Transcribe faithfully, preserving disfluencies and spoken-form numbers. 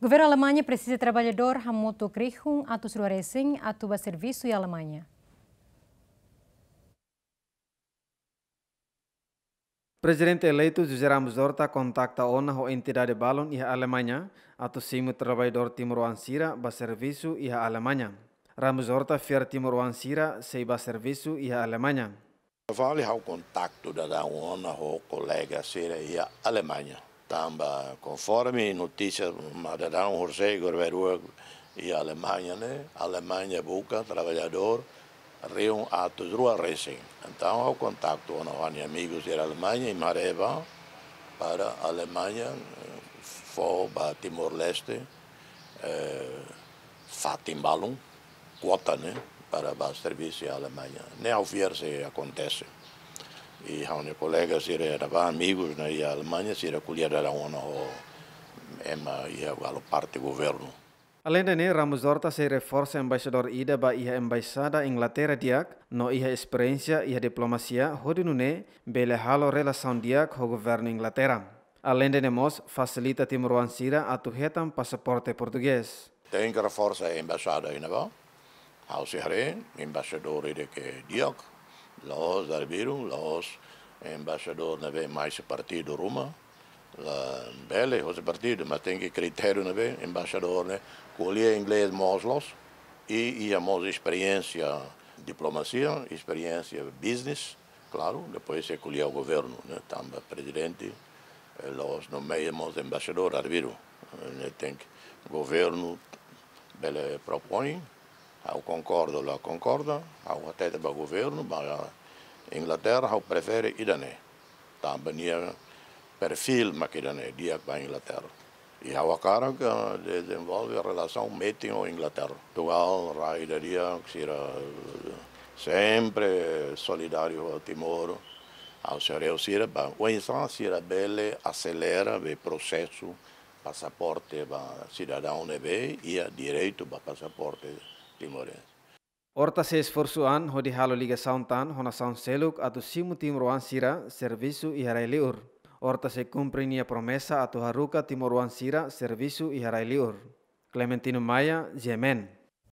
Governu Alemaña presiza traballadór hamutuk rihun atus rua resin atu ba servisu iha Alemaña. Prezidente eleitu José Ramos Horta kontakta ona ho entidade balun iha Alemaña atu simu traballadór timoroan sira ba servisu iha Alemaña. Ramos Horta fiar timoroan sira sei ba servisu iha Alemaña. Fali ha'u kontaktu daudaun ona ho kolega sira iha Alemaña. Tanba konforme notísia mak daudaun horisehik governu iha Alemaña ne'e, Alemaña buka traballadór rihun atus rua resin. Entaun ha'u kontaktu ona ho ha'u-nia amigu sira Alemaña, imi haree ba para Alemaña, eh, fó ba Timor-Leste, eh, fatin balun, kuota ne'e, para ba servisu iha Alemaña. Ne'e ha'u fiar sei akontese. I ha'u-nia kolega sira ne'ebé amigu ne'e iha Alemaña, sira ko'alia daudaun ona ho ema iha halo parte governu. Aleinde ne'e, Ramos Horta sei reforsa embaixadór ida ba iha embaixada Inglaterra di'ak, no iha esperiénsia iha diplomasia, hodi nune'e bele halo relasaun di'ak ho governu Inglaterra. Aleinde ne'e mós fasilita timoroan sira atu hetan pasaporte portugés. Tenke reforsa embaixada iha ne'ebá. Ha'u sei haree embaixadór ida ke di'ak, la'ós arbiru, la'ós embaixadór ne'ebé mai husi partidu ruma, labele husi partidu, mas tenke kritériu ne'ebé embaixadór ne'e ko'alia inglés mós loos, i iha mós esperiénsia diplomasia, esperiénsia business, klaru, depois sei ko'alia ho governu, ne'e, tanba prezidente, eh, la'ós nomeia mós embaixadór arbiru, eh, ne'e tenke governu bele propoin, ha'u konkorda, la konkorda, ha'u hatete ba governu, ba Inglaterra, ha'u prefere ida-ne'e. Tanba nia perfil mak ida-ne'e, di'ak ba Inglaterra. I ha'u hakarak, eh, dezenvolve relasaun metin ho Inglaterra. Portugal, rai ida di'ak, sira, eh, sempre solidáriu ho Timor. Ha'u sei haree ho sira, ba, oinsá sira bele aselera be prosesu pasaporte ba sidadaun ne'ebé iha direitu ba pasaporte timorense. Horta sei esforsu an hodi halo ligasaun tan ho nasaun seluk atu simu timoroan sira servisu iha rai-li'ur. Horta sei kumpre nia promesa atu haruka timoroan sira servisu iha rai-li'ur. Clementino Maia, G M N.